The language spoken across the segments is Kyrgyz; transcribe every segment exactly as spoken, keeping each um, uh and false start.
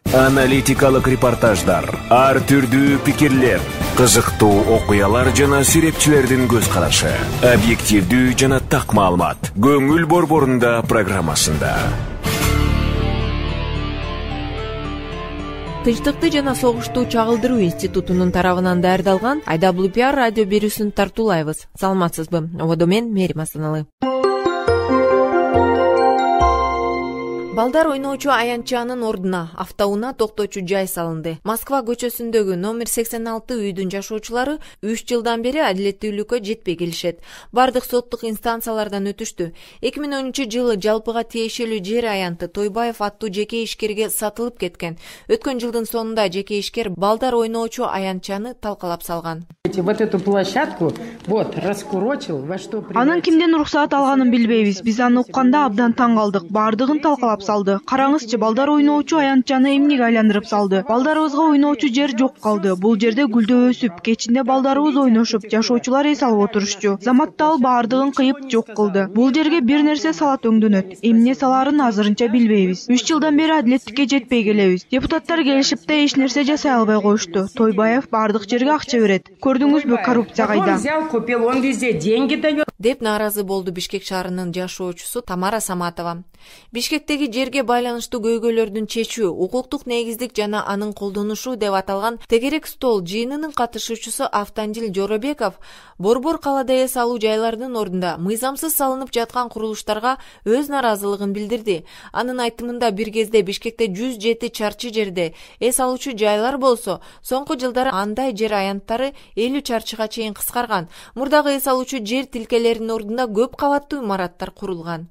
Аналитикалык репортаждар, ар түрдүү пикирлер, кызыктуу окуялар жана серепчилердин көз карашы, объективдүү жана так маалымат. Көңүл борборунда программасында. Тынчтыкты жана согушту чагылдыруу институтунун тарабынан даярдалган ай дабл ю пи ар радио берүүсүн тартуулайбыз. Саламатсызбы? Ободо мен Мерим Асаналы. Балдар ойноочу аянтчанын ордуна автоунаа токтоочу жай салынды. Москва көчөсүндөгү номер сексен алты үйдүн жашоочулары үч жылдан бери адилеттүүлүккө жетпей келишет. Бардык соттук инстанциялардан өтүштү. эки миң онунчу жылы жалпыга тиешелүү жер аянты Тойбаев аттуу жеке ишкерге сатылып кеткен. Өткөн жылдын сонунда жеке ишкер балдар ойноочу аянтчаны талкалап салган. Вот эту площадку вот раскурочил, во что Анын кимден уруксаат алганын билбейбиз. Биз аны укканда абдан таң калдык. Бардыгын талкалап салды. Караңызчы, балдар ойноочу аянтчаны эмнеге айландырып салды? Балдарыбызга ойноочу жер жок калды. Бул жерде гүлдөө өсүп, кечинде балдарыбыз ойношуп, жашоочулар эс алып отурушчу. Заматта ал бардыгын кыйып жок кылды. Бул жерге бир нерсе салат өңдөнөт. Эмне саларын азырынча билбейбиз. үч жылдан бери адилеттикке жетпей келебиз. Депутаттар келишип да эч нерсе жасай албай коюшту. Тойбаев бардык жерге акча берет. Көрдүңүзбү, коррупция кайда? Он взял, купил, он везде деньги дает. Деп нааразы болду Бишкек шаарынын жашоочусу Тамара Саматова. Бишкектеги жерге байланыштуу көйгөйлөрдүн чечүү, укуктук негиздик жана анын колдонушу деп аталган тегерек стол жыйынынын катышуучусу Автандил Жоробеков Борбор калада эс алуу жайлардын ордунда мыйзамсыз салынып жаткан курулуштарга өз наразылыгын билдирди. Анын айтымында бир кезде Бишкекте жүз жети чарчы жерде эс алуучу жайлар болсо, соңку жылдары андай жер аянттары элүү чарчыга чейин кыскарган. Мурдагы эс алуучу жер тилкелеринин ордунда көп кабаттуу имараттар курулган.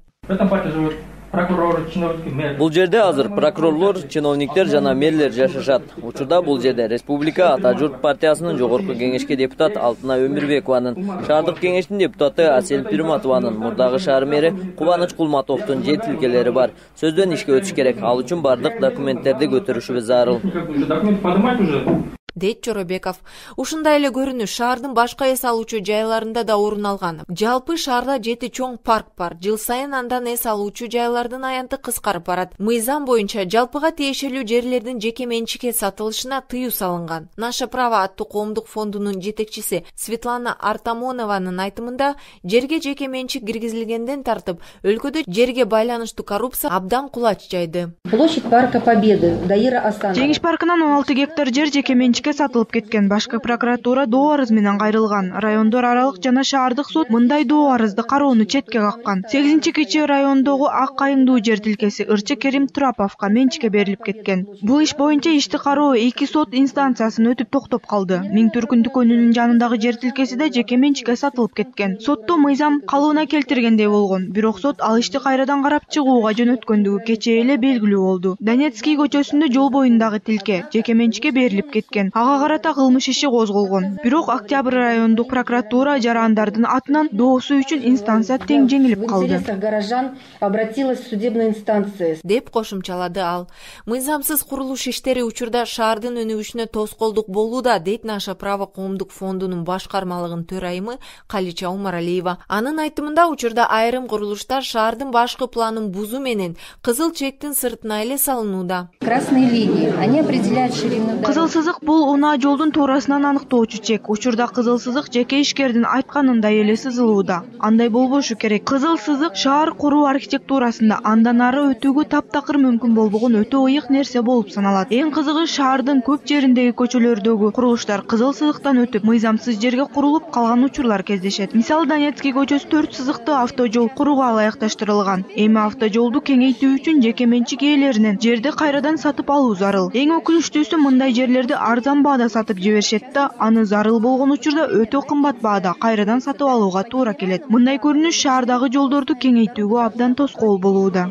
Бул жерде азыр прокурорлор, чиновниктер жана мэрлер жашашат. Учурда бул жерде Республика Ата журт партиясынын жогорку кеңешке депутат Алтына Өмүрбекованын, шаардык кеңештин депутаты Асель Пирматованын, мурдагы шаар мэри Кубаныч Кулматовдун жер тилкелери бар. Сөздөн ишке өтүш керек. Ал үчүн бардык документтерди көтөрүшүбүз зарыл. Дейт Жоробеков. Ушундай эле көрүнүш шаардын башка эс алуучу жайларында да орун алган. Жалпы шаарда жети чоң парк бар. Жыл сайын андан эс алуучу жайлардын аянты кыскарып барат. Мыйзам боюнча жалпыга тиешелүү жерлердин жеке менчикке сатылышына тыюу салынган. Наша право аттуу коомдук фондунун жетекчиси Светлана Артамонованын айтымында, жерге жеке менчик киргизилгенден тартып, өлкөдө жерге байланыштуу коррупция абдан кулач жайды. Площадь парка Победы, Даира Асанова. Жеңиш паркынан он алты гектар жер жеке менчикке сатылып кеткен. Башкы прокуратура доо арыз менен кайрылган. Райондор аралык жана шаардык суд мындай доо арызды кароону четке каккан. сегизинчи Кичи райондогу Ак Кайыңдуу жер тилкеси Ырчы Керим Тураповго менчикке берилип кеткен. Бул иш боюнча ишти кароо эки сот инстанциясын өтүп токтоп калды. Миң Түркүн дүкөнүнүн жанындагы жер тилкеси да жеке менчикке сатылып кеткен. Сотто мыйзам калыбына келтиргендей болгон. Бирок сот ал ишти кайрадан карап чыгууга жөнөткөндүгү кечээ эле белгилүү болду. Донецкий көчөсүндө жол боюндагы тилке жеке менчикке берилип кеткен. Ага карата кылмыш иши козголгон. Бирок Октябрь райондук прокуратура жарандардын атынан доосу үчүн инстанция тең жеңилип калды. Горожан обратилась в судебную инстанцию. Деп кошумчалады ал. Мыйзамсыз курулуш иштери учурда шаардын өнүгүшүнө тоскоолдук болууда, дейт Наша право коомдук фондунун башкармалыгынын төрайымы Калича Умаралиева. Анын айтымында учурда айрым курулуштар шаардын башкы планын бузуу менен кызыл чектин сыртына эле салынууда. Красные линии, они определяют ширину. Кызыл сызык бул унаа жолдун туурасынан аныктоочу чек. Учурда кызыл сызык жеке ишкердин айтканындай эле сызылууда. Андай болбошу керек. Кызыл сызык шаар куруу архитектурасында андан ары өтүүгө таптакыр мүмкүн болбогон өтө ыйык нерсе болуп саналат. Эң кызыгы шаардын көп жериндеги көчөлөрдөгү курулуштар кызыл сызыктан өтүп, мыйзамсыз жерге курулуп калган учурлар кездешет. Мисалы, Донецкий көчөсү төрт сызыктуу автожол курууга ылайыкташтырылган. Эми автожолду кеңейтүү үчүн жеке менчик ээлеринен жерди кайрадан сатып алуу зарыл. Эң өкүнүчтүүсү, мындай жерлерди арзан баада сатып жиберишет да, аны зарыл болгон учурда өтө кымбат баада кайрадан сатып алууга туура келет. Мындай көрүнүш шаардагы жолдорду кеңейтүүгө абдан тоскоол болууда.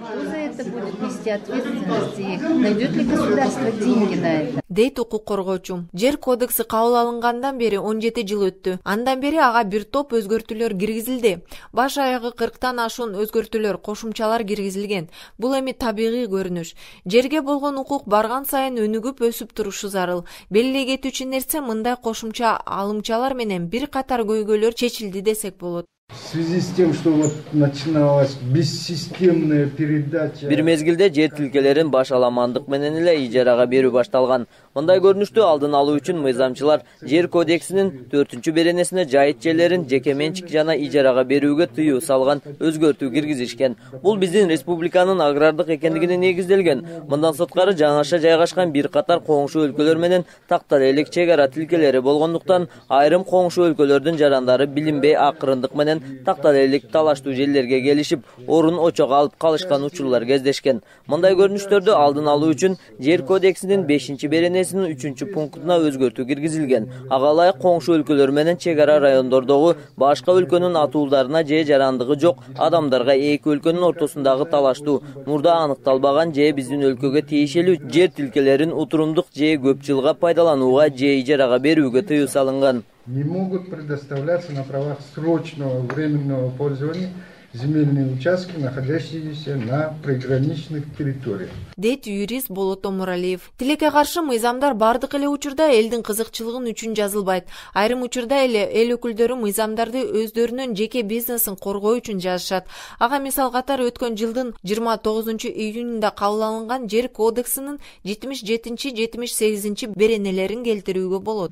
Дейт укук коргоочу. Жер кодекси кабыл алынгандан бери он жети жыл өттү. Андан бери ага бир топ өзгөртүүлөр киргизилди. Баш аягы кырктан ашуун өзгөртүүлөр, кошумчалар киргизилген. Бул эми табигый көрүнүш. Жерге болгон укук барган сайын өнүгүп өсүп турушу зарыл. Белгилей кетүүчү нерсе, мындай кошумча алымчалар менен бир катар көйгөйлөр чечилди десек болот. В связи с тем, что вот начиналась бессистемная передача. Бир мезгилде жер тилкелерин баш аламандык менен эле ижарага берүү башталган. Мындай көрүнүштү алдын алуу үчүн мыйзамчылар жер кодексинин төртүнчү беренесине жайыт жерлерин жеке менчик жана ижарага берүүгө тыюу салган өзгөртүү киргизишкен. Бул биздин республиканын агрардык экендигине негизделген. Мындан сырткары жаңаша жайгашкан бир катар коңшу өлкөлөр менен тактар элек чек ара тилкелери болгондуктан айрым коңшу өлкөлөрдүн жарандары билинбей акырындык менен тактар элек талаштуу жерлерге келишип, орун очого алып калышкан учурлар кездешкен. Мындай көрүнүштөрдү алдын алуу үчүн жер кодексинин бешинчи беренесинин үчүнчү пунктуна өзгөртүү киргизилген. Ага ылайык коңшу өлкөлөр менен чек ара райондордогу башка өлкөнүн атуулдарына же жарандыгы жок адамдарга эки өлкөнүн ортосундагы талаштуу мурда аныкталбаган же биздин өлкөгө тиешелүү жер тилкелерин утурумдук же көп жылга пайдаланууга же ижарага берүүгө тыюу салынган. Не могут предоставляться на правах срочного временного пользования земельные участки, находящиеся на приграничных территориях. Дейт юрист Болот Омуралиев. Тилекке каршы мыйзамдар бардык эле учурда элдин кызыкчылыгын үчүн жазылбайт. Айрым учурда эле эл өкүлдөрү мыйзамдарды өздөрүнүн жеке бизнесин коргоо үчүн жазышат. Ага мисал катары өткөн жылдын жыйырма тогузунчу июнунда кабыл алынган жер кодексинин жетимиш жетинчи жетимиш сегизинчи беренелерин келтирүүгө болот.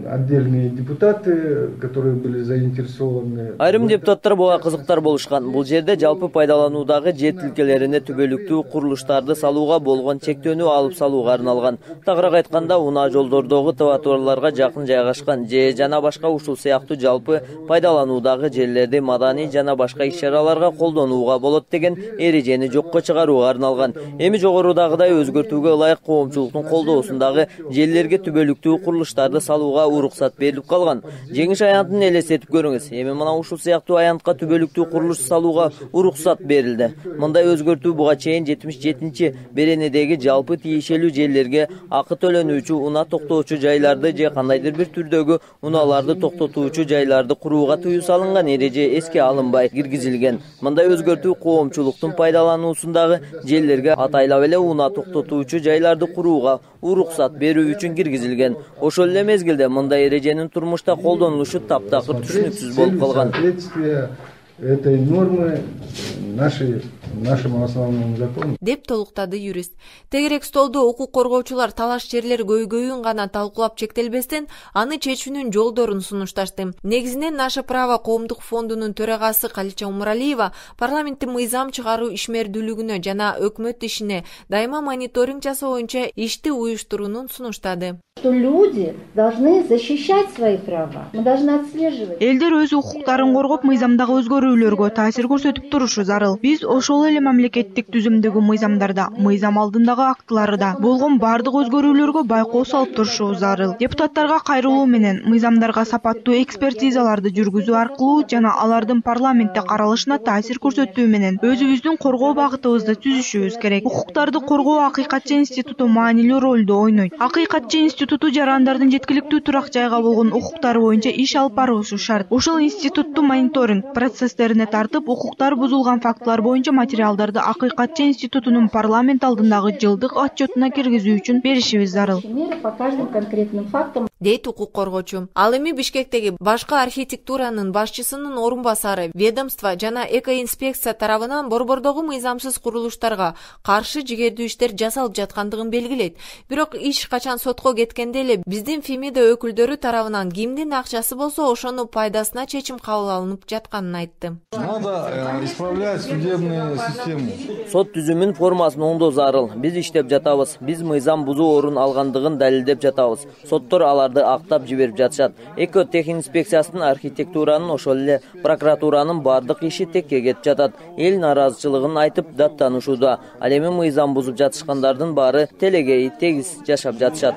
Отдельные депутаты, которые были заинтересованы. Айрым депутаттар буга кызыктар болушкан. Бул жерде жалпы пайдалануудагы жер тилкелерине түбөлүктүү курулуштарды салууга болгон чектөөнү алып салууга арналган. Тагыраак айтканда, унаа жолдордогу тротуарларга жакын жайгашкан же жана башка ушул сыяктуу жалпы пайдалануудагы жерлерди маданий жана башка иш-чараларга колдонууга болот деген эрежени жокко чыгарууга арналган. Эми жогорудагыдай өзгөртүүгө ылайык коомчулуктун колдоосундагы жерлерге түбөлүктүү курулуштарды салууга уруксат берилип калган. Жеңиш аянтын элестетип көрүңүз. Эми мына ушул сыяктуу аянтка түбөлүктүү курулуш салууга уруксат берилди. Мындай өзгөртүү буга чейин жетимиш жетинчи беренедеги жалпы тиешелүү жерлерге акы төлөнүүчү унаа токтоочу жайларды же кандайдыр бир түрдөгү унааларды токтотуучу жайларды курууга тыюу салынган эреже эске алынбай киргизилген. Мындай өзгөртүү коомчулуктун пайдалануусундагы жерлерге атайлап эле унаа токтотуучу жайларды курууга уруксат берүү үчүн киргизилген. Ошол эле мезгилде мындай эреженин турмушта колдонулушу таптакыр түшүнүксүз болуп калган. Этой нормы нашей нашему основному закону. Деп толуктады юрист. Тегерек столдо укук коргоочулар талаш жерлер көйгөйүн гана талкуулап чектелбестен, аны чечүүнүн жолдорун сунушташты. Негизинен Наше право коомдук фондунун төрагасы Калича Умуралиева парламенттин мыйзам чыгаруу ишмердүүлүгүнө жана өкмөт ишине дайыма мониторинг жасоо боюнча ишти уюштуруунун сунуштады. Что люди должны защищать свои права. Мы должны отслеживать. Элдер өз укуктарын коргоп, мыйзамдагы өзгөрүүлөргө таасир көрсөтүп турушу зарыл. Биз ошол эле мамлекеттик түзүмдөгү мыйзамдарда, мыйзам алдындагы актыларда болгон бардык өзгөрүүлөргө байкоо салып турушубуз зарыл. Депутаттарга кайрылуу менен мыйзамдарга сапаттуу экспертизаларды жүргүзүү аркылуу жана алардын парламентте каралышына таасир көрсөтүү менен өзүбүздүн коргоо багытыбызды түзүшүбүз керек. Укуктарды коргоо Акыйкатчы институту маанилүү ролду ойнойт. Акыйкатчы институту жарандардын жеткиликтүү турак жайга болгон укуктары боюнча иш алып баруусу шарт. Ошол институтту мониторинг процесстерине тартып, укуктар бузулган фактылар боюнча материалдарды Акыйкатчы институтунун парламент алдындагы жылдык отчетуна киргизүү үчүн беришибиз зарыл. По каждым конкретным фактам. Дейт укук коргоочу. Ал эми Бишкектеги башкы архитектуранын башчысынын орун басары, ведомство жана экоинспекция тарабынан борбордогу мыйзамсыз курулуштарга каршы жигердүү иштер жасалып жаткандыгын белгилейт. Бирок иш качан сотко кеткенде эле биздин Фемида өкүлдөрү тарабынан кимдин акчасы болсо ошону пайдасына чечим кабыл алынып жатканын айтты. Надо исправлять судебную систему. Сот түзүмүн формасын оңдоо зарыл. Биз иштеп жатабыз. Биз мыйзам бузуу орун алгандыгын далилдеп жатабыз. Соттор аларды актап жиберип жатышат. Эко техинспекциясынын архитектуранын ошол эле прокуратуранын бардык иши текке кетип жатат. Эл наразычылыгын айтып даттанышууда. Ал эми мыйзам бузуп жатышкандардын баары телегей тегиз жашап жатышат.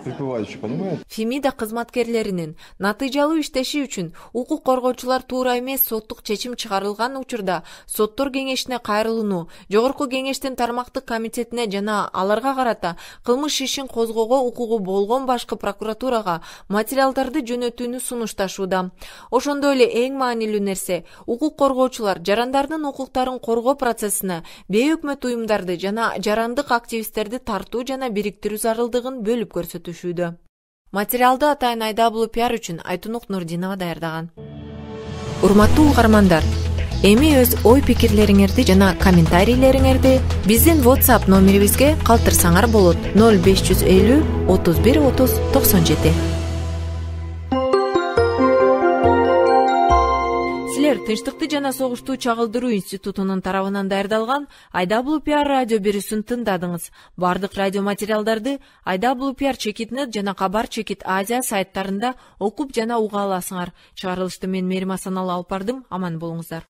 Фемида кызматкерлеринин натыйжалуу иштеши үчүн укук коргоочулар туура эмес соттук чечим чыгарылган учурда соттор кеңешине кайрылууну, жогорку кеңештин тармактык комитетине жана аларга карата кылмыш ишин козгоого укугу болгон башкы прокуратурага материалдарды жөнөтүүнү сунушташууда. Ошондой эле эң маанилүү нерсе укук коргоочулар жарандардын укуктарын коргоо процессине бейөкмөт уюмдарды жана жарандык активисттерди тартуу жана бириктирүү зарылдыгын бөлүп көрсөтүшүүдө. Материалды атайын Айдабулу пиар үчүн Айтунук Нурдинова даярдаган. Урматтуу угармандар, Эми өз ой пикирлериңерди жана комментарийлериңерди биздин WhatsApp номерибизге калтырсаңар болот. ноль беш жүз элүү отуз бир отуз токсон жети. Силер Тынчтыкты жана согушту чагылдыруу институтунун тарабынан даярдалган ай дабл ю пи ар радио берүүсүн тыңдадыңыз. Бардык радио материалдарды ай дабл ю пи ар чекит нет жана Кабар чекит Азия сайттарында окуп жана уга аласыңар. Чыгарылышты мен Мерим Асаналы алып бардым. Аман болуңуздар.